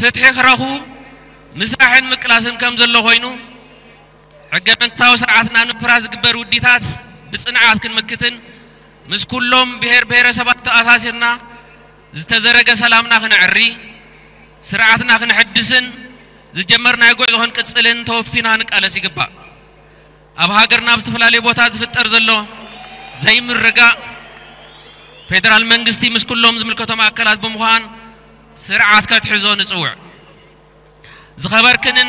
ፍትሒ ክረኽቡ ምስራሕን ምቅላስን ከም ዘሎ ኮይኑ፣ ሕገ መንግስታዊ ስርዓትና ንምፍራስ ዝግበር ውዲታት ብጽንዓት ክንምክትን፣ ምስ ኩሎም ብሔር ብሔረሰባት ተኣሳሲርና ዝተዘረገ ሰላምና ክነዕሪ፣ ስርዓትና ክንሕድስን ዝጀመርናዮ ጉዕዞ ክንቅጽልን ተወፊና ክንቃለስ ይግባእ። ኣብ ሃገርና ኣብ ዝተፈላለዩ ቦታ ዝፍጠር ዘሎ ዘይምርጋእ፣ ፌደራል መንግስቲ ምስ ኩሎም ዝምልከቶም ኣካላት ብምዃን ስርዓት ከትሕዞ ንጽውዕ። ዝኸበርክንን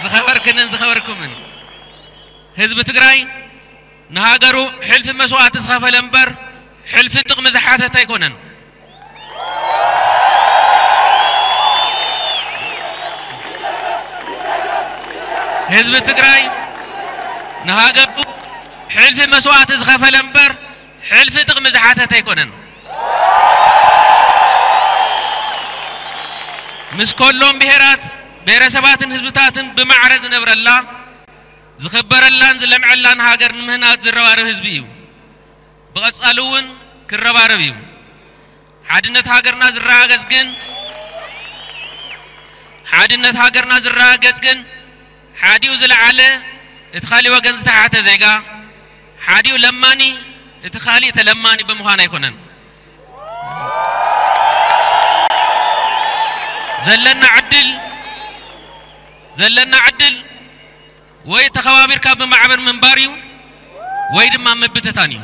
ዝኸበርክንን ዝኸበርኩምን፣ ህዝቢ ትግራይ ንሃገሩ ሕልፊ መስዋእቲ ዝኸፈለ እምበር፣ ሕልፊ ጥቕሚ ዝሓተተ ኣይኮነን። ህዝቢ ትግራይ ንሃገሩ ሕልፊ መስዋእቲ ዝኸፈለ እምበር፣ ሕልፊ ጥቕሚ ዝሓተተ ኣይኮነን። ምስ ከሎም ብሄራት፣ ብሄረሰባትን ህዝብታትን ብማዕረ ዝነብረላ፣ ዝኽበረላን ዝለምዐላን ሃገር ንምህናጽ ዝረባረብ ህዝቢ እዩ። ብቐጻሊ እውን ክረባረብ እዩ። ሓድነት ሃገርና ዝረጋገጽ ግን፣ ሓድነት ሃገርና ዝረጋገጽ ግን፣ ሓዲኡ ዝለዓለ እቲ ካሊእ ወገን ዝተሓተ ዜጋ፣ ሓዲኡ ለማኒ እቲ ካሊእ ተለማኒ ብምዃን ኣይኮነን። ዘለና ዕድል፣ ዘለና ዕድል ወይ ተኸባቢርካ ብማዕበር ምንባር እዩ፣ ወይ ድማ ምብትታን እዩ።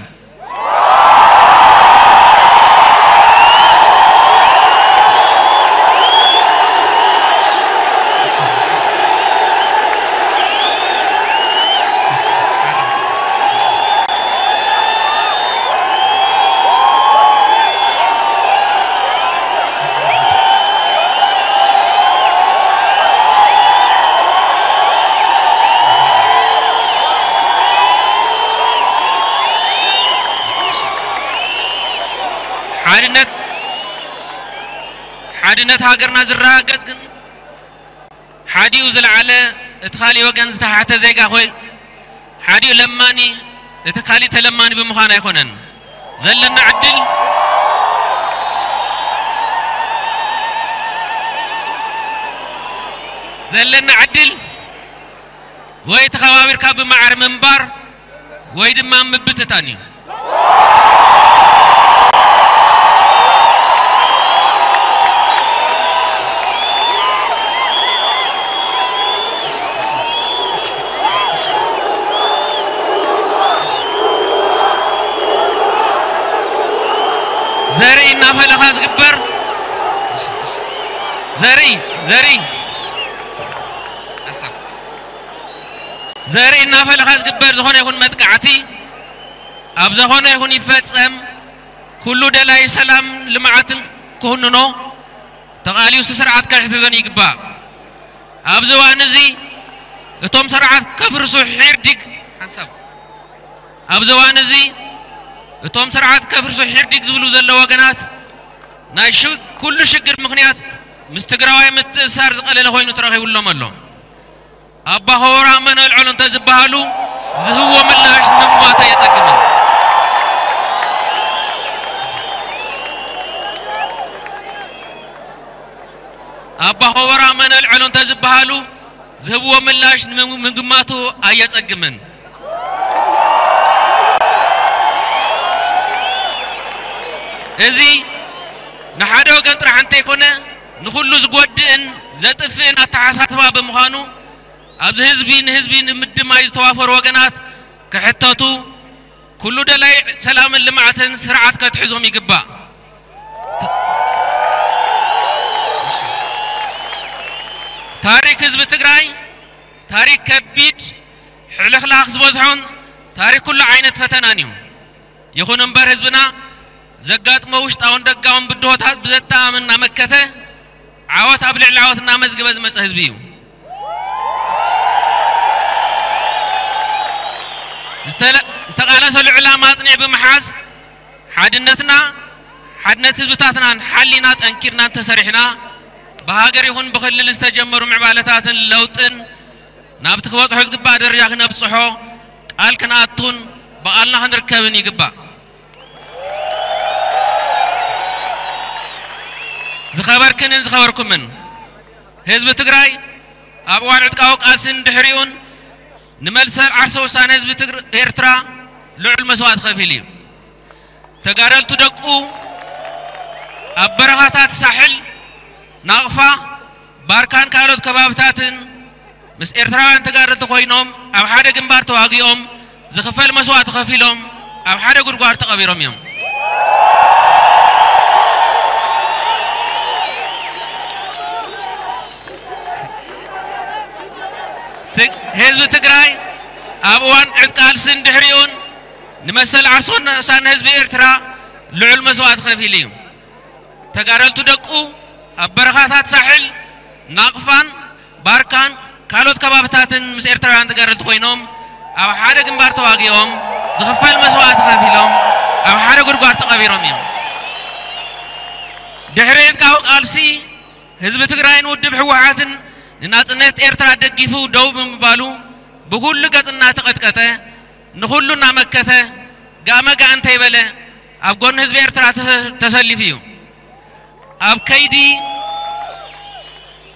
ሓድነት፣ ሓድነት ሃገርና ዝረጋገጽ ግን፣ ሓዲኡ ዝለዓለ እቲ ካሊእ ወገን ዝተሓተ ዜጋ ኮይ፣ ሓዲኡ ለማኒ እቲ ካሊእ ተለማኒ ብምዃን ኣይኮነን። ዘለና ዕድል፣ ዘለና ዕድል ወይ ተኸባቢርካ ብማዕረ ምንባር ወይ ድማ ምብትታን እዩ። ዘርኢ እናፈለኻ ዝግበር፣ ዘርኢ፣ ዘርኢ፣ ዘርኢ እናፈለኻ ዝግበር ዝኾነ ይኹን መጥቃዕቲ፣ ኣብ ዝኾነ ይኹን ይፈጸም፣ ኩሉ ደላይ ሰላም ልምዓትን ክውንኖ፣ ተቓሊሱ ስርዓት ከሕትተን ይግባእ። ኣብዚ እዋን እዚ እቶም ስርዓት ከፍርሱ ሒርዲግ ሓንሳብ፣ ኣብዚ እዋን እዚ እቶም ስርዓት ከፍርሱ ሒርዲግ ዝብሉ ዘለዉ ወገናት፣ ናይ ሽ-፣ ኩሉ ሽግር ምኽንያት ምስ ትግራዋይ ምትእሳር ዝቐለለ ኮይኑ ተረኺቡሎም ኣሎ። ኣባ ኸወራ መን ኣልዐሎ እንተ ዝበሃሉ፣ ዝህብዎ ምላሽ ንምግማት ኣየጸግምን። ኣባ ኸወራ መን ኣልዐሎ እንተ ዝበሃሉ፣ ዝህብዎ ምላሽ ንምግማቱ ኣየጸግምን። እዚ ንሓደ ወገን ጥራሕ እንተይኮነ፣ ንኹሉ ዝጎድእን ዘጥፍእን ኣተሓሳስባ ብምዃኑ፣ ኣብዚ ህዝቢ ንህዝቢ ንምድማይ ዝተዋፈሩ ወገናት ክሕተቱ፣ ኩሉ ደላይ ሰላምን ልምዓትን ስርዓት ከትሕዞም ይግባእ። ታሪክ ህዝቢ ትግራይ ታሪክ ከቢድ፣ ሕልኽላኽ ዝበዝሖን ታሪክ ኩሉ ዓይነት ፈተናን እዩ። ይኹን እምበር ህዝብና ዘጋጥሞ ውሽጣውን ደጋውን ብድሆታት ብዘተኣማምን እናመከተ ዓወት ኣብ ልዕሊ ዓወት እናመዝገበ ዝመፀ ህዝቢ እዩ። ዝተለ-፣ ዝተቓለሰሉ ዕላማ ኣፅኒዑ ብምሓዝ ሓድነትና፣ ሓድነት ህዝብታትናን ሓሊና ጠንኪርና እንተሰሪሕና ብሃገር ይኹን ብክልል ዝተጀመሩ ምዕባለታትን ለውጥን ናብቲ ክበፅሖ ዝግባእ ደረጃ ክነብፅሖ ቃል ክንኣቱን ብቓልና ክንርከብን ይግባእ። ዝኸበርክንን ዝኸበርኩምን ህዝቢ ትግራይ ኣብ እዋን ዕጥቃዊ ቃልስን ድሕሪኡን ንመልሰ ዓርሰ ውሳነ ህዝቢ ትግር-፣ ኤርትራ ልዑል መስዋእቲ ከፊሉ እዩ። ተጋደልቱ ደቁ ኣብ በረኻታት ሳሕል፣ ናቕፋ፣ ባርካን ካልኦት ከባብታትን ምስ ኤርትራውያን ተጋደልቲ ኮይኖም ኣብ ሓደ ግንባር ተዋጊኦም ዝኽፈል መስዋእቲ ከፊሎም ኣብ ሓደ ጉድጓድ ተቐቢሮም እዮም። ት-፣ ህዝቢ ትግራይ ኣብ እዋን ዕጥቂ ቃልስን ድሕሪኡን ንመሰል ዓርሶን ንእሳን ህዝቢ ኤርትራ ልዑል መስዋእቲ ከፊሉ እዩ። ተጋደልቱ ደቁ ኣብ በረኻታት ሳሕል፣ ናቕፋን፣ ባርካን ካልኦት ከባብታትን ምስ ኤርትራውያን ተጋደልቲ ኮይኖም ኣብ ሓደ ግንባር ተዋጊኦም ዝኽፈል መስዋእቲ ከፊሎም ኣብ ሓደ ጉድጓድ ተቐቢሮም እዮም። ድሕሪ ዕጥቃዊ ቃልሲ ህዝቢ ትግራይን ውድብ ህወሓትን ንናጽነት ኤርትራ ደጊፉ ደው ብምባሉ ብኹሉ ገጽ እናተቐጥቀጠ ንኹሉ እናመከተ ጋመ ጋእ እንተይበለ ኣብ ጎኒ ህዝቢ ኤርትራ ተሰ-፣ ተሰሊፉ እዩ። ኣብ ከይዲ፣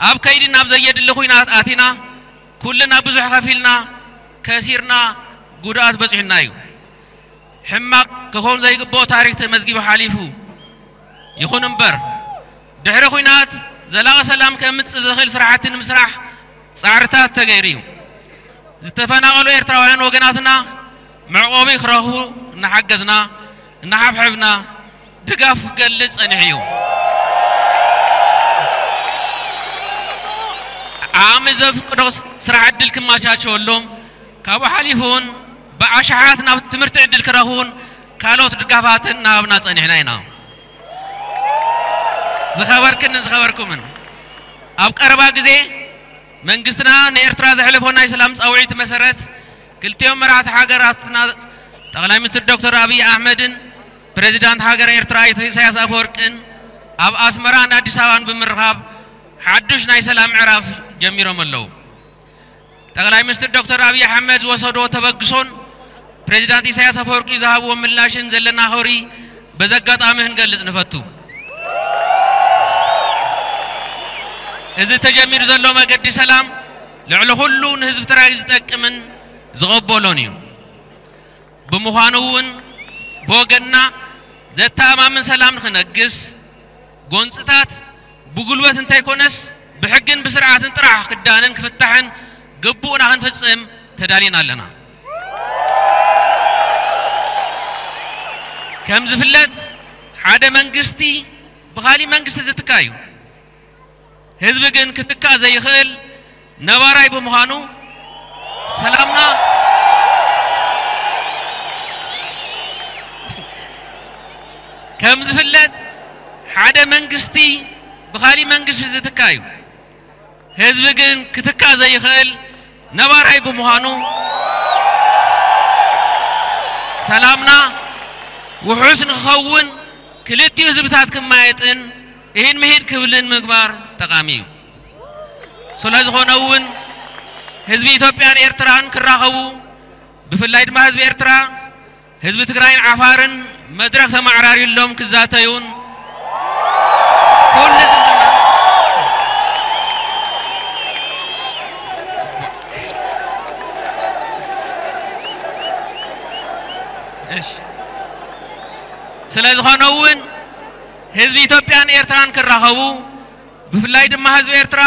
ኣብ ከይዲ ናብ ዘየድሊ ኹናት ኣቲና፣ ኩልና ብዙሕ ከፊልና፣ ከሲርና፣ ጉድኣት በፂሑና እዩ። ሕማቕ ክኸውን ዘይግብኦ ታሪክ ተመዝጊቡ ሓሊፉ። ይኹን እምበር፣ ድሕሪ ኹናት ዘላቒ ሰላም ከምጽእ ዝኽእል ስራሕቲ ንምስራሕ ጻዕርታት ተገይሩ እዩ። ዝተፈናቐሉ ኤርትራውያን ወገናትና መዕቆቢ ክረኽቡ እናሓገዝና፣ እናሓብሐብና ድጋፍ ክገልጽ ጸኒሑ እዩ። ዓቕሚ ዘፍቅዶ ስራሕ ዕድል ክመቻቸወሎም፣ ካብኡ ሓሊፉ እውን ብኣሽሓት ናብ ትምህርቲ ዕድል ክረኽቡን ካልኦት ድጋፋትን እናሃብና ጸኒሕና ኢና። ዝኸበርክንን ዝኸበርኩምን፣ ኣብ ቀረባ ግዜ መንግስትና ንኤርትራ ዘሕለፎ ናይ ሰላም ጻውዒት መሰረት ክልቲኦም መራሕቲ ሃገራትና ጠቕላይ ሚኒስትር ዶክተር ኣብይ ኣሕመድን ፕሬዚዳንት ሃገረ ኤርትራ ኣይተ ኢሳያስ ኣፈወርቅን ኣብ ኣስመራን ኣዲስ ኣበባን ብምርኻብ ሓዱሽ ናይ ሰላም ምዕራፍ ጀሚሮም ኣለዉ። ጠቕላይ ሚኒስትር ዶክተር ኣብይ ኣሕመድ ዝወሰድዎ ተበግሶን ፕሬዚዳንት ኢሳያስ ኣፈወርቂ ዝሃብዎ ምላሽን ዘለና ክብሪ በዚ ኣጋጣሚ ክንገልጽ ንፈቱ። እዚ ተጀሚሩ ዘሎ መገዲ ሰላም ልዕሊ ኩሉ ንህዝቢ ትግራይ ዝጠቅምን ዝቐበሎን እዩ። ብምዃኑ እውን ብወገንና ዘተኣማምን ሰላም ንኽነግስ፣ ጎንፅታት ብጉልበት እንተይኮነስ ብሕግን ብስርዓትን ጥራሕ ክዳንን ክፍታሕን ግቡእና ክንፍፅም ተዳሊና ኣለና። ከም ዝፍለጥ፣ ሓደ መንግስቲ ብኻሊእ መንግስቲ ዝትካ እዩ። ህዝቢ ግን ክትካእ ዘይኽእል ነባራይ ብምዃኑ፣ ሰላምና፣ ከም ዝፍለጥ፣ ሓደ መንግስቲ ብኻሊእ መንግስቲ ዝትካ እዩ። ህዝቢ ግን ክትካእ ዘይኽእል ነባራይ ብምዃኑ፣ ሰላምና ውሑስ ንክኸውን ክልቲኡ ህዝብታት ክማየጥን ኢሂን ምሂን ክብልን ምግባር ጠቓሚ እዩ። ስለ ዝኾነ እውን ህዝቢ ኢትዮጵያን ኤርትራን ክራኸቡ፣ ብፍላይ ድማ ህዝቢ ኤርትራ ህዝቢ ትግራይን ዓፋርን መድረኽ ተመዓራርዩሎም ክዛተዩን ኩሉ ዝምድና፣ እሺ፣ ስለ ዝኾነ እውን ህዝቢ ኢትዮጵያን ኤርትራን ክራኸቡ፣ ብፍላይ ድማ ህዝቢ ኤርትራ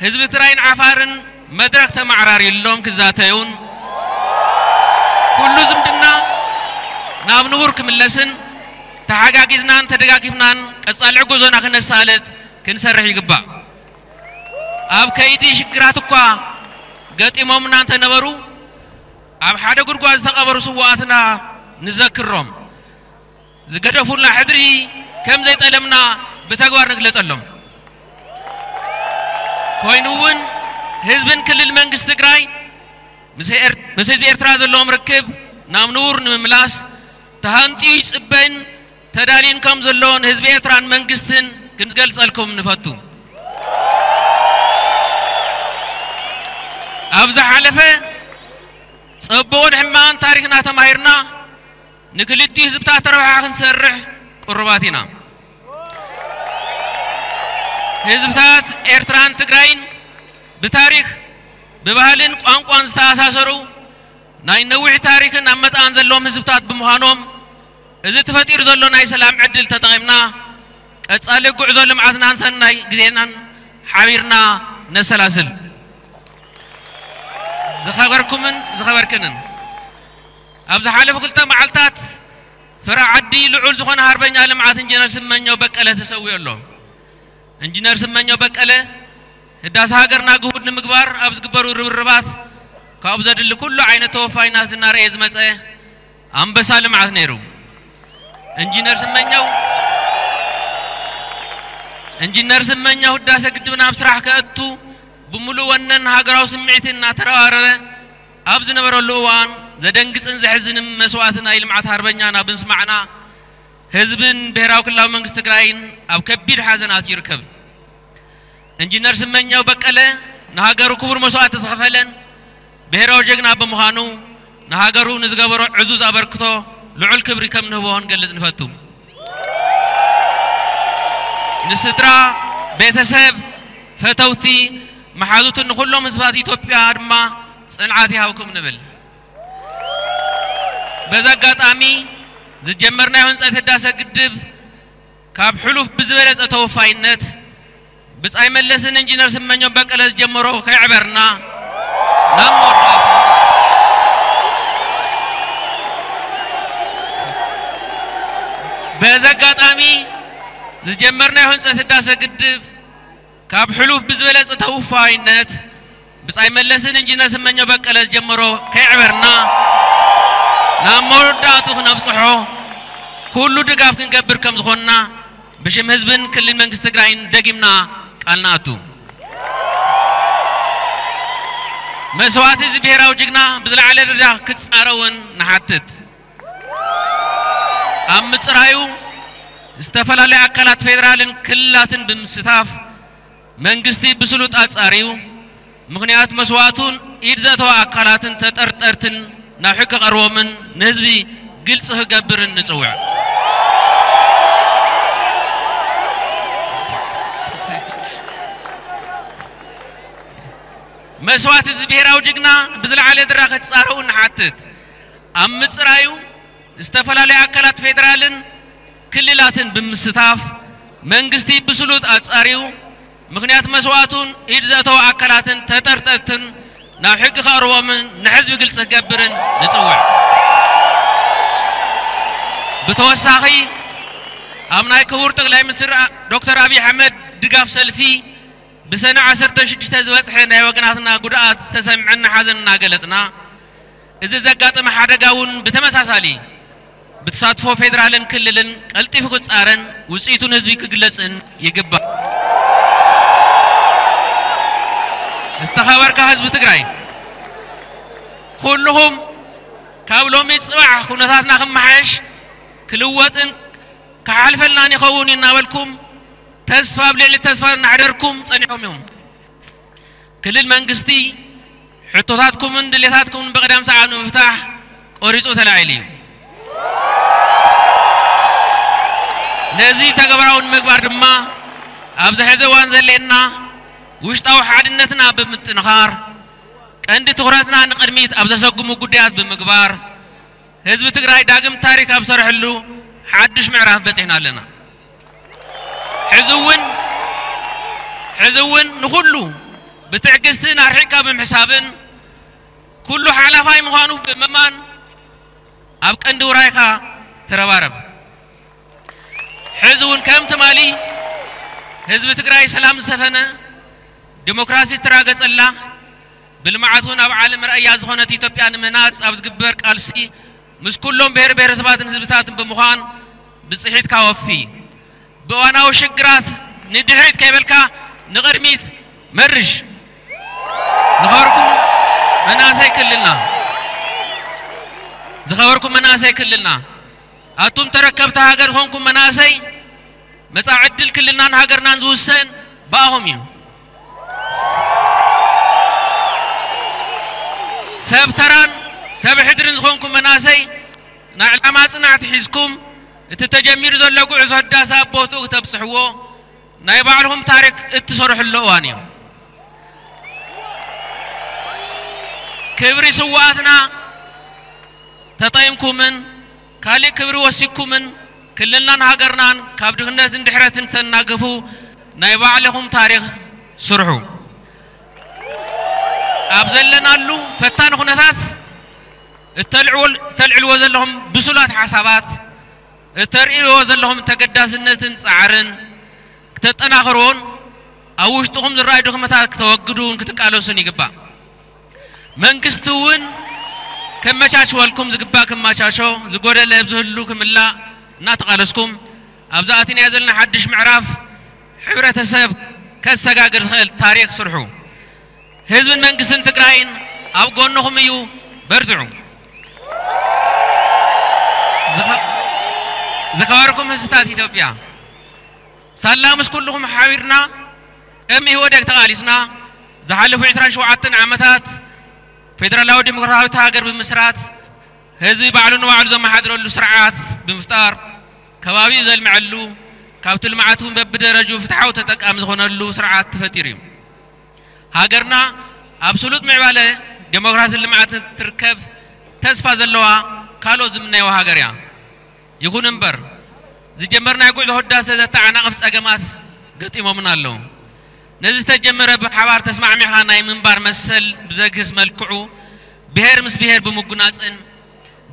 ህዝቢ ትግራይን ዓፋርን መድረኽ ተመዓራርዩሎም ክዛተዩን ኩሉ ዝምድና ናብ ንቡር ክምለስን ተሓጋጊዝናን ተደጋጊፍናን ቀጻሊ ጉዞና ክነሳልጥ ክንሰርሕ ይግባእ። ኣብ ከይዲ ሽግራት እኳ ገጢሞምና እንተነበሩ፣ ኣብ ሓደ ጉድጓድ ዝተቐበሩ ስውኣትና ንዘክሮም። ዝገደፉልና ሕድሪ ከም ዘይጠለምና ብተግባር ንግለጸሎም። ኮይኑ እውን ህዝብን ክልል መንግስቲ ትግራይ ምስ ኤር-፣ ምስ ህዝቢ ኤርትራ ዘለዎም ርክብ ናብ ንቡር ንምምላስ ተሃንጥዩ ይጽበይን ተዳልዩን ከም ዘሎ ንህዝቢ ኤርትራን መንግስትን ክንገልጸልኩም ንፈቱ። ኣብ ዝሓለፈ ጸቡቕን ሕማቕን ታሪኽና ተማሂርና ንክልቲኡ ህዝብታት ረብሓ ክንሰርሕ ቅሩባት ኢና። ህዝብታት ኤርትራን ትግራይን ብታሪኽ፣ ብባህልን ቋንቋን ዝተኣሳሰሩ ናይ ነዊሕ ታሪኽን ኣመጻእን ዘለዎም ህዝብታት ብምዃኖም፣ እዚ ተፈጢሩ ዘሎ ናይ ሰላም ዕድል ተጠቒምና ቀጻሊ ጉዕዞ ልምዓትናን ሰናይ ግዜናን ሓቢርና ነሰላስል። ዝኸበርኩምን ዝኸበርክንን፣ ኣብ ዝሓለፉ ክልተ መዓልታት ፍረ ዓዲ ልዑል ዝኾነ ሃርበኛ ልምዓት ኢንጂነር ስመኘው በቀለ ተሰዊኡ ኣሎ። ኢንጂነር ስመኘው በቀለ ህዳሰ ሃገርና ግሁድ ንምግባር ኣብ ዝግበሩ ርብርባት ካብኡ ዘድሊ ኩሉ ዓይነት ተወፋይነት እናረእየ ዝመጸ ኣንበሳ ልምዓት ነይሩ። ኢንጂነር ስመኘው ኢንጂነር ስመኘው ህዳሰ ግድብና ኣብ ስራሕ ከእቱ ብምሉእ ወነን ሃገራዊ ስምዒት እናተረባረበ ኣብ ዝነበረሉ እዋን፣ ዘደንግጽን ዘሕዝንን መስዋእቲ ናይ ልምዓት ሃርበኛና ብምስማዕና፣ ህዝብን ብሄራዊ ክልላዊ መንግስቲ ትግራይን ኣብ ከቢድ ሓዘን ኣትዩ ይርከብ። ኢንጂነር ስመኘው በቀለ ንሃገሩ ክቡር መስዋእቲ ዝኸፈለን ብሄራዊ ጀግና ብምዃኑ፣ ንሃገሩ ንዝገበሮ ዕዙዝ ኣበርክቶ ልዑል ክብሪ ከም ንህቦ ክንገልጽ ንፈቱ። ንስድራ፣ ቤተሰብ፣ ፈተውቲ፣ መሓዙትን ንኹሎም ህዝባት ኢትዮጵያ ድማ ጽንዓት ይሃብኩም ንብል። በዚ ኣጋጣሚ ዝጀመርናዮ ህንጸት ህዳሰ ግድብ ካብ ሕሉፍ ብዝበለጸ ተወፋይነት ብጻይ መለስን ኢንጂነር ስመኘው በቀለ ዝጀመሮ ከየዕበርና ናብ መወዳእታ፣ በዚ ኣጋጣሚ ዝጀመርናዮ ህንጸት ህዳሰ ግድብ ካብ ሕሉፍ ብዝበለጸ ተወፋይነት ብጻይ መለስን ኢንጂነር ስመኘው በቀለ ዝጀመሮ ከየዕበርና ናብ መወዳእቱ ክነብጽሖ ኩሉ ድጋፍ ክንገብር ከም ዝኾንና ብሽም ህዝብን ክልል መንግስቲ ትግራይን ደጊምና ቃል ንኣቱ። መስዋእቲ እዚ ብሄራዊ ጅግና ብዝለዓለ ደረጃ ክጻረ እውን ንሓትት። ኣብ ምጽራዩ ዝተፈላለዩ ኣካላት ፌዴራልን ክልላትን ብምስታፍ መንግስቲ ብስሉጥ ኣጻርዩ ምኽንያት መስዋእቱን ኢድ ዘእተዋ ኣካላትን ተጠርጠርትን ናብ ሕጊ ቀርቦምን ንህዝቢ ግልጺ ክገብርን ንጽውዕ። መስዋእቲ እዚ ብሄራዊ ጅግና ብዝለዓለ ደረጃ ክጻረኡ ንሓትት። ኣብ ምጽራዩ ዝተፈላለዩ ኣካላት ፌዴራልን ክልላትን ብምስታፍ መንግስቲ ብስሉጥ ኣጻርዩ ምኽንያት መስዋእቱን ኢድ ዘእተው ኣካላትን ተጠርጠርትን ናብ ሕጊ ከቕርቦምን ንሕዝቢ ግልጺ ክገብርን ንጽውዕ። ብተወሳኺ ኣብ ናይ ክቡር ጠቅላይ ሚኒስትር ዶክተር ኣብይ ኣሕመድ ድጋፍ ሰልፊ ብሰነ ዓሰርተ ሽዱሽተ ዝበጽሐ ናይ ወገናትና ጉድኣት ዝተሰምዐና ሓዘን እናገለጽና፣ እዚ ዘጋጠመ ሓደጋ እውን ብተመሳሳሊ ብተሳትፎ ፌዴራልን ክልልን ቀልጢፉ ክጻረን ውጽኢቱ ንህዝቢ ክግለጽን ይግባእ። ዝተኸበርካ ህዝቢ ትግራይ፣ ኩልኹም ካብ ሎሚ ጽባሕ ኩነታትና ክመሓየሽ፣ ክልወጥን ክሓልፈልናን ይኸውን እናበልኩም ተስፋ ኣብ ልዕሊ ተስፋ እናሕደርኩም ጸኒሖም እዮም። ክልል መንግስቲ ሕቶታትኩምን ድሌታትኩምን ብቕደም ሰዓብ ንምፍታሕ ቆሪጹ ተላዒሉ እዩ። ነዚ ተግባራዊ ንምግባር ድማ ኣብዚ ሕዚ እዋን ዘድልየና ውሽጣዊ ሓድነትና ብምጥንኻር፣ ቀንዲ ትኹረትና ንቕድሚት ኣብ ዘሰጉሙ ጉዳያት ብምግባር፣ ህዝቢ ትግራይ ዳግም ታሪኽ ኣብ ዝሰርሐሉ ሓድሽ ምዕራፍ በጺሕና ኣለና። ሕዚ እውን ሕዚ እውን ንኹሉ ብትዕግስትን ኣርሒቕካ ብምሕሳብን፣ ኩሉ ሓላፋይ ምዃኑ ብምእማን፣ ኣብ ቀንዲ ውራይካ ተረባረብ። ሕዚ እውን ከም ትማሊ ህዝቢ ትግራይ ሰላም ዝሰፈነ፣ ዲሞክራሲ ዝተራገጸላ፣ ብልምዓት እውን ኣብ ዓለም ርኣያ ዝኾነት ኢትዮጵያ ንምህናጽ ኣብ ዝግበር ቃልሲ ምስ ኩሎም ብሄር ብሄረሰባትን ህዝብታትን ብምዃን ብጽሒትካ ወፊ። ብእዋናዊ ሽግራት ንድሕሪት ከይበልካ ንቕድሚት መርሽ። ዝኸበርኩም መናእሰይ ክልልና ዝኸበርኩም መናእሰይ ክልልና፣ ኣቱም ተረከብቲ ሃገር ዝኾንኩም መናእሰይ፣ መጻኢ ዕድል ክልልናን ሃገርናን ዝውሰን ብኣኹም እዩ። ሰብ ተራን ሰብ ሕድርን ዝኾንኩም መናእሰይ፣ ናይ ዕላማ ጽናዕቲ ሒዝኩም፣ እቲ ተጀሚሩ ዘሎ ጉዕዞ ህዳሰ ኣብ ቦትኡ ክተብጽሕዎ፣ ናይ ባዕልኹም ታሪክ እትሰርሕሉ እዋን እዩ። ክብሪ ስውኣትና ተጠይምኩምን ካሊእ ክብሪ ወሲኩምን ክልልናን ሃገርናን ካብ ድኽነትን ድሕረትን ተናግፉ ናይ ባዕልኹም ታሪኽ ስርሑ። ኣብ ዘለናሉ ፈታኒ ኩነታት እተልዕዎ-፣ እተልዕልዎ ዘለኹም ብሱላት ሓሳባት፣ እተርእይዎ ዘለኹም ተገዳስነትን ጻዕርን ክተጠናኽርዎን ኣብ ውሽጥኹም ዝረኣዩ ድኽመታት ክተወግዱን ክትቃለሱን ይግባእ። መንግስቲ እውን ከመቻችወልኩም ዝግባእ ክመቻቾ፣ ዝጎደለ ኣብ ዝህሉ ክምላእ እናተቓለስኩም፣ ኣብዚ ኣቲናዮ ዘለና ሓድሽ ምዕራፍ ሕብረተሰብ ከሰጋግር ዝኽእል ታሪኽ ስርሑ። ህዝብን መንግስትን ትግራይን ኣብ ጎንኹም እዩ፣ በርትዑ። ዝኸ-፣ ዝኸበርኩም ህዝብታት ኢትዮጵያ፣ ሳላ ምስ ኩልኹም ሓቢርና ቅድሚ ኢህወዴግ ተቓሊስና ዝሓለፉ ዕስራን ሸውዓተን ዓመታት ፌደራላዊ ዲሞክራሲያዊት ሃገር ብምስራት ህዝቢ ባዕሉ ንባዕሉ ዘመሓድረሉ ስርዓት ብምፍጣር ከባቢኡ ዘልምዐሉ ካብቲ ልምዓት እውን በብደረጅኡ ፍትሓዊ ተጠቃሚ ዝኾነሉ ስርዓት ተፈጢሩ እዩ። ሃገርና ኣብ ስሉጥ ምዕባለ ዴሞክራሲን ልምዓትን ትርከብ ተስፋ ዘለዋ ካልኦት ዝምነይዋ ሃገር እያ። ይኹን እምበር ዝጀመርናዮ ጉዕዞ ህዳሰ ዘተዓናቕፍ ጸገማት ገጢሞምና ኣለዉ። ነዚ ዝተጀመረ ብሓባር ተስማዕሚዕኻ ናይ ምንባር መሰል ብዘግህስ መልክዑ ብሄር ምስ ብሄር ብምጉናጽን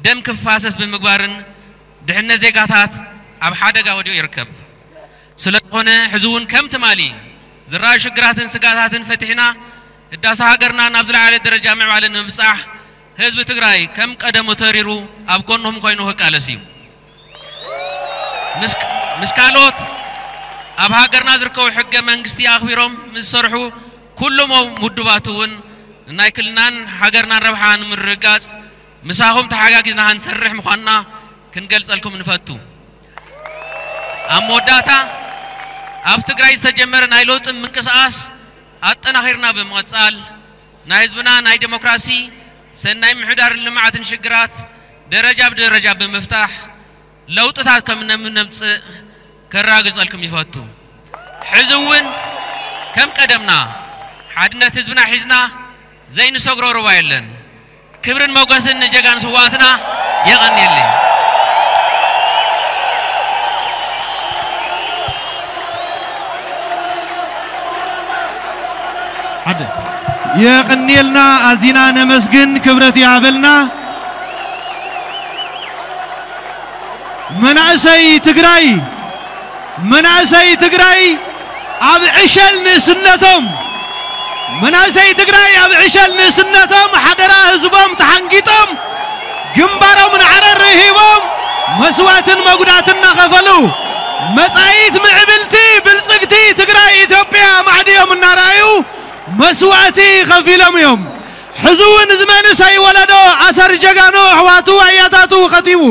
ደም ክፋሰስ ብምግባርን ድሕነት ዜጋታት ኣብ ሓደጋ ወዲቑ ይርከብ። ስለዝኾነ ሕዚ እውን ከም ትማሊ ዝረኣዩ ሽግራትን ስጋታትን ፈቲሕና ህዳሰ ሃገርና ናብ ዝለዓለ ደረጃ ምዕባለ ንምብጻሕ ህዝቢ ትግራይ ከም ቀደሙ ተሪሩ ኣብ ጎንኹም ኮይኑ ክቃለስ እዩ። ምስ፣ ምስ ካልኦት ኣብ ሃገርና ዝርከቡ ሕገ መንግስቲ ኣኽቢሮም ምስ ዝሰርሑ ኩሎም ውድባት እውን ንናይ ክልልናን ሃገርናን ረብሓ ንምርግጋጽ ምሳኹም ተሓጋጊዝና ክንሰርሕ ምዃንና ክንገልጸልኩም ንፈቱ። ኣብ መወዳእታ ኣብ ትግራይ ዝተጀመረ ናይ ለውጢ ምንቅስቓስ ኣጠናኺርና ብምቕጻል ናይ ህዝብና ናይ ዴሞክራሲ፣ ሰናይ ምሕዳርን ልምዓትን ሽግራት ደረጃ ብደረጃ ብምፍታሕ ለውጥታት ከም እነምጽእ ከረጋግጸልኩም ይፈቱ። ሕዚ እውን ከም ቀደምና ሓድነት ህዝብና ሒዝና ዘይንሰግሮ ሩባ የለን። ክብርን ሞገስን ንጀጋኑ ስውኣትና። የቐንየለይ። ሓደ የቕንየልና፣ ኣዚና ነመስግን፣ ክብረት ይሃበልና። መናእሰይ ትግራይ፣ መናእሰይ ትግራይ ኣብ ዕሸል ንእስነቶም፣ መናእሰይ ትግራይ ኣብ ዕሸል ንእስነቶም ሓደራ ህዝቦም ተሓንጊጦም፣ ግንባሮም ንዓረር ሂቦም፣ መስዋእትን መጉዳትን እናኸፈሉ፣ መጻኢት ምዕብልቲ ብልጽግቲ ትግራይ ኢትዮጵያ ማዕድዮም እናረኣዩ መስዋእቲ ከፊሎም እዮም። ሕዚ እውን እዚ መንእሰይ ወለዶ ኣሰር ጀጋኑ ኣሕዋቱ ኣያታቱ ከቲቡ፣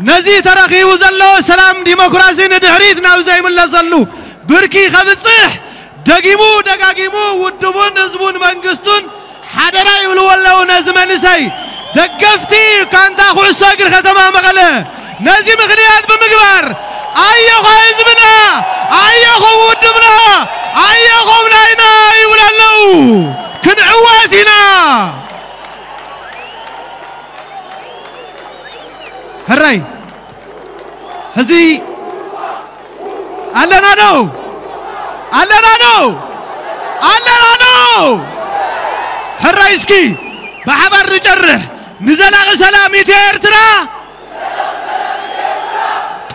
ነዚ ተረኺቡ ዘሎ ሰላም ዲሞክራሲ ንድሕሪት ናብ ዘይምለሰሉ ብርኪ ከብጽሕ ደጊሙ ደጋጊሙ ውድቡን ህዝቡን መንግስቱን ሓደራ ይብልዎ ኣለዉ። ነዚ መንእሰይ ደገፍቲ ጋንታ ኩዕሶ እግሪ ከተማ መቐለ ነዚ ምኽንያት ብምግባር ኣየኾ ህዝብና፣ ኣየኾ ውድብና፣ ኣየኾ ናይና ይብሉ ኣለዉ። ክንዕወት ኢና። ሕራይ ሕዚ ኣለና ዶ? ኣለና ዶ? ኣለና ዶ? ሕራይ እስኪ ብሓባር ንጨርሕ። ንዘላቒ ሰላም ኢትዮ ኤርትራ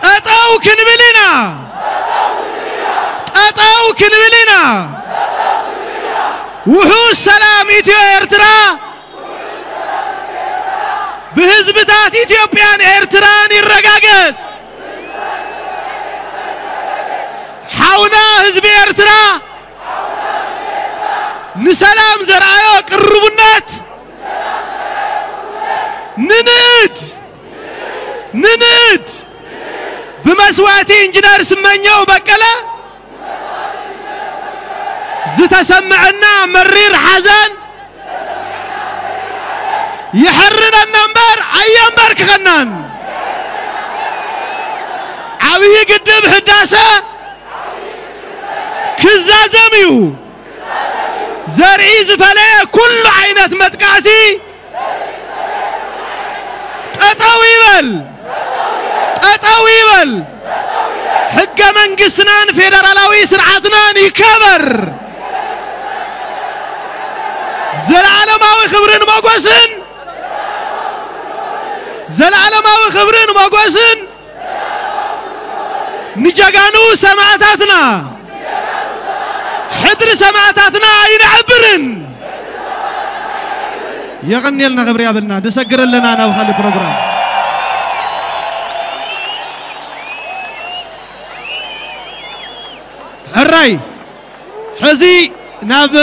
ጠጠው ክንብል ኢና። ጠጠው ክንብል ኢና። ውሑስ ሰላም ኢትዮ ኤርትራ ብህዝብታት ኢትዮጵያን ኤርትራን ይረጋገጽ። ሓውና ህዝቢ ኤርትራ ንሰላም ዘርኣዮ ቅርቡነት ንንእድ፣ ንንእድ። ብመስዋእቲ ኢንጂነር ስመኘው በቀለ ዝተሰምዐና መሪር ሓዘን የሕርነና እምበር ኣየንበርክኸናን። ዓብዪ ግድብ ህዳሰ ክዛዘም እዩ። ዘርኢ ዝፈለየ ኩሉ ዓይነት መጥቃዕቲ ጠጠው ይበል፣ ጠጠው ይበል። ሕገ መንግስትናን ፌደራላዊ ስርዓትናን ይከበር። ዘላለማዊ ክብርን ሞጎስን፣ ዘላለማዊ ክብርን ሞጎስን ንጀጋኑ ሰማእታትና፣ ሕድሪ ሰማእታትና ኣይነዕብርን። የቐንየልና፣ ክብሪ ያብልና። ንሰግር ኣለና ናብ ካልእ ፕሮግራም። ሕራይ፣ ሕዚ ናብ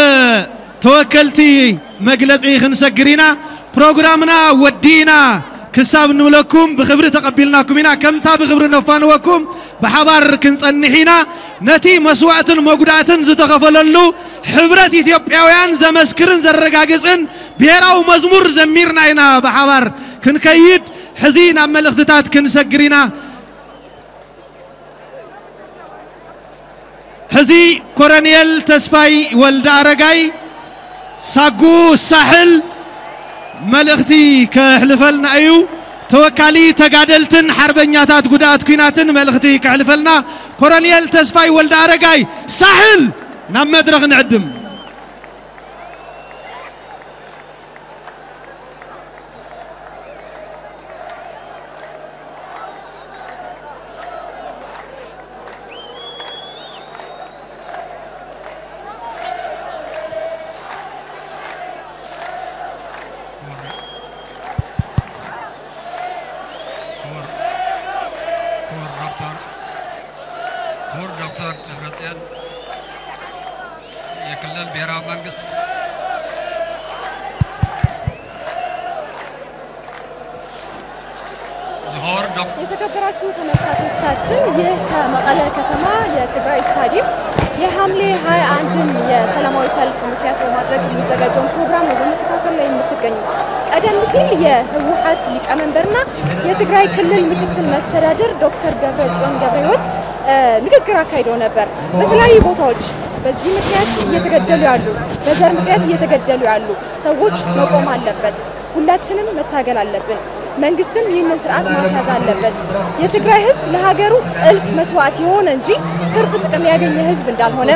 ተወከልቲ መግለጺ ክንሰግር ኢና። ፕሮግራምና ወዲእና ክሳብ ንብለኩም ብኽብሪ ተቐቢልናኩም ኢና። ከምታ ብኽብሪ ነፋንወኩም ብሓባር ክንጸንሕ ኢና። ነቲ መስዋእትን መጉዳእትን ዝተኸፈለሉ ሕብረት ኢትዮጵያውያን ዘመስክርን ዘረጋግጽን ብሄራዊ መዝሙር ዘሚርና ኢና ብሓባር ክንከይድ። ሕዚ ናብ መልእኽትታት ክንሰግር ኢና። ሕዚ ኮረኔል ተስፋይ ወልደ ኣረጋይ ሳጉ ሳሕል መልእኽቲ ከሕልፈልና እዩ። ተወካሊ ተጋደልትን ሓርበኛታት ጉዳኣት ኲናትን መልእኽቲ ከሕልፈልና ኮረኔል ተስፋይ ወልደ ኣረጋይ ሳሕል ናብ መድረኽ ንዕድም። ክቡር፣ ክቡር፣ ክቡር ዶክተር፣ ክቡር ዶክተር ደብረጽዮን፣ የክልል ብሔራዊ መንግስት ዝኸወር ዶክ- የተከበራችሁ ተመልካቾቻችን፣ ይህ ከመቀለ ከተማ የትግራይ ስታዲየም የሐምሌ ሃያ አንድን የሰላማዊ ሰልፍ ምክንያት በማድረግ የሚዘጋጀውን ፕሮግራም ነው በመከታተል ላይ የምትገኙት። ቀደም ሲል የህወሓት ሊቀመንበርና የትግራይ ክልል ምክትል መስተዳድር ዶክተር ደብረ ጽዮን ገብረ ህይወት እ፣ ንግግር አካሂደው ነበር። በተለያዩ ቦታዎች በዚህ ምክንያት እየተገደሉ ያሉ፣ በዘር ምክንያት እየተገደሉ ያሉ ሰዎች መቆም አለበት። ሁላችንም መታገል አለብን። መንግስትም ይህንን ስርዓት ማስያዝ አለበት። የትግራይ ህዝብ ለሀገሩ እልፍ መስዋዕት የሆነ እንጂ ትርፍ ጥቅም ያገኘ ህዝብ እንዳልሆነ፣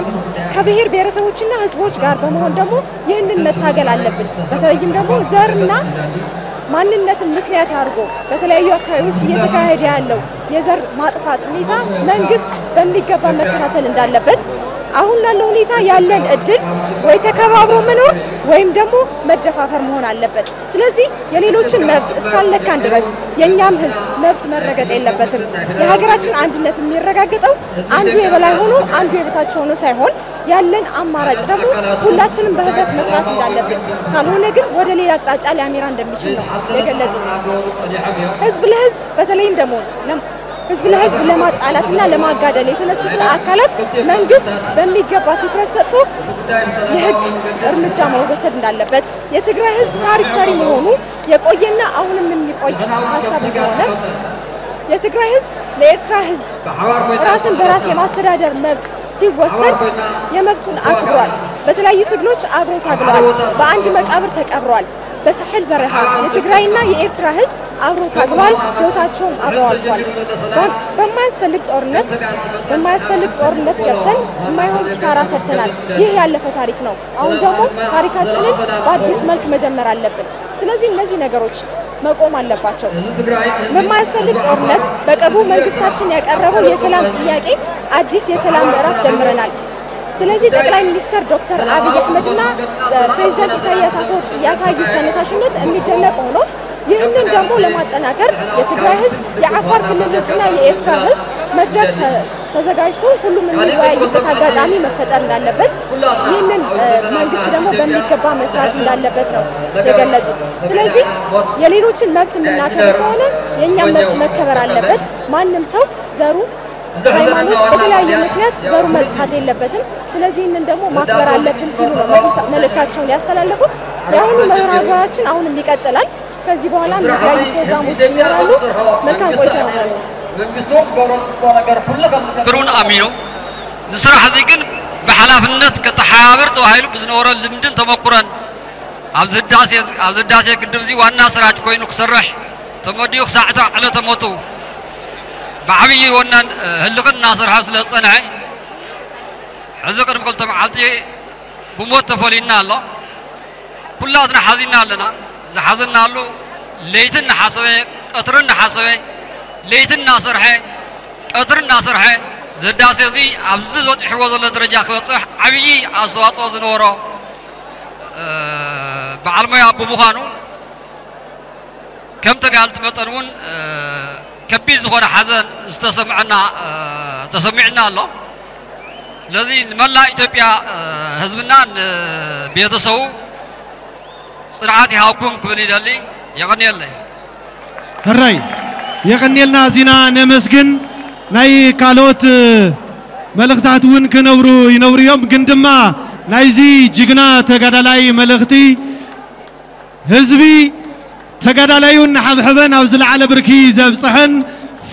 ከብሔር ብሔረሰቦችና ህዝቦች ጋር በመሆን ደግሞ ይህንን መታገል አለብን። በተለይም ደግሞ ዘርና ማንነትን ምክንያት አድርጎ በተለያዩ አካባቢዎች እየተካሄደ ያለው የዘር ማጥፋት ሁኔታ መንግስት በሚገባ መከታተል እንዳለበት፣ አሁን ላለው ሁኔታ ያለን እድል ወይ ተከባብሮ መኖር ወይም ደግሞ መደፋፈር መሆን አለበት። ስለዚህ የሌሎችን መብት እስካልነካን ድረስ የእኛም ህዝብ መብት መረገጥ የለበትም። የሀገራችን አንድነት የሚረጋገጠው አንዱ የበላይ ሆኖ አንዱ የበታች ሆኖ ሳይሆን፣ ያለን አማራጭ ደግሞ ሁላችንም በህብረት መስራት እንዳለብን፣ ካልሆነ ግን ወደ ሌላ አቅጣጫ ሊያመራ እንደሚችል ነው የገለጹት። ህዝብ ለህዝብ በተለይም ደግሞ ለም- ህዝብ ለህዝብ ለማጣላትና ለማጋደል የተነሱትን አካላት መንግስት በሚገባ ትኩረት ሰጥቶ የህግ እርምጃ መውሰድ እንዳለበት፣ የትግራይ ህዝብ ታሪክ ሰሪ መሆኑ የቆየና አሁንም የሚቆይ ሀሳብ እንደሆነ፣ የትግራይ ህዝብ ለኤርትራ ህዝብ ራስን በራስ የማስተዳደር መብት ሲወሰድ የመብቱን አክብሯል። በተለያዩ ትግሎች አብሮ ታግሏል። በአንድ መቃብር ተቀብሯል። በሳሕል በረሃ የትግራይና የኤርትራ ህዝብ አብሮ ታግሏል። ህይወታቸውም አብረው አልፏል። በ- በማያስፈልግ ጦርነት በማያስፈልግ ጦርነት ገብተን የማይሆን ኪሳራ ሰርተናል። ይህ ያለፈ ታሪክ ነው። አሁን ደግሞ ታሪካችንን በአዲስ መልክ መጀመር አለብን። ስለዚህ እነዚህ ነገሮች መቆም አለባቸው። በማያስፈልግ ጦርነት በቅርቡ መንግስታችን ያቀረበው የሰላም ጥያቄ አዲስ የሰላም ምዕራፍ ጀምረናል። ስለዚህ ጠቅላይ ሚኒስትር ዶክተር አብይ አህመድና ፕሬዚዳንት ኢሳያስ አፈወርቂ ያሳዩት ተነሳሽነት የሚደነቅ ሆኖ፣ ይህንን ደግሞ ለማጠናከር የትግራይ ህዝብ፣ የአፋር ክልል ህዝብና የኤርትራ ህዝብ መድረክ ተ- ተዘጋጅቶ ሁሉም የሚወያይበት አጋጣሚ መፈጠር እንዳለበት፣ ይህንን መንግስት ደግሞ በሚገባ መስራት እንዳለበት ነው የገለጹት። ስለዚህ የሌሎችን መብት የምናከብር ከሆነ የእኛም መብት መከበር አለበት። ማንም ሰው ዘሩ፣ ሃይማኖት፣ በተለያየ ምክንያት ዘሩ መጥፋት የለበትም። ስለዚህ ይህንን ደግሞ ማክበር አለብን ሲሉ ነው መልእክታቸውን ያስተላለፉት። የአሁኑ መርሃ ግብራችን አሁንም ይቀጥላል። ከዚህ በኋላም የተለያዩ ፕሮግራሞች ይኖራሉ። መልካም ቆይታ ይሆናሉ። ብሩን ኣሚኑ ዝስራሕ እዚ ግን ብሓላፍነት ከተሓባብር ተባሂሉ ብዝነበሮ ልምድን ተመኩረን ኣብዚ ህዳሴ ኣብዚ ህዳሴ ግድብ እዚ ዋና ስራጅ ኮይኑ ክሰርሕ ተመዲኡ ክሳዕ ዕለተ ሞቱ ብዓብዪ ወናን ህልኽን እናሰርሐ ስለ ዝጸንሐ ሕዚ ቅድሚ ክልተ መዓልቲ ብሞት ተፈሊዩና ኣሎ። ኩላትና ሓዚና ኣለና። ዝሓዘናሉ ለይቲ እናሓሰበ ቀትሪ እናሓሰበ ለይቲ እናሰርሐ ቀትሪ እናሰርሐ እዚ ህዳሴ እዚ ኣብዚ በፂሕዎ ዘሎ ደረጃ ክበፅሕ ዓብዪ ኣስተዋፅኦ ዝነበሮ በዓል ሞያ ብምዃኑ ከም ተጋልቲ መጠን እውን ከቢድ ዝኾነ ሓዘን ዝተሰምዐና ተሰሚዕና ኣሎ። ስለዚ ንመላእ ኢትዮጵያ ህዝብና ንቤተሰቡ ፅንዓት ይሃብኩም ክብል ይደሊ። የቐንየለይ። ሕራይ የቐንየልና። እዚና ነመስግን። ናይ ካልኦት መልእኽታት እውን ክነብሩ ይነብሩ እዮም። ግን ድማ ናይዚ ጅግና ተጋዳላይ መልእኽቲ ህዝቢ ተጋዳላዩ እናሓብሐበ ናብ ዝለዓለ ብርኪ ዘብፅሐን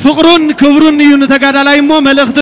ፍቕሩን ክብሩን እዩ ንተጋዳላይ እሞ መልእኽቲ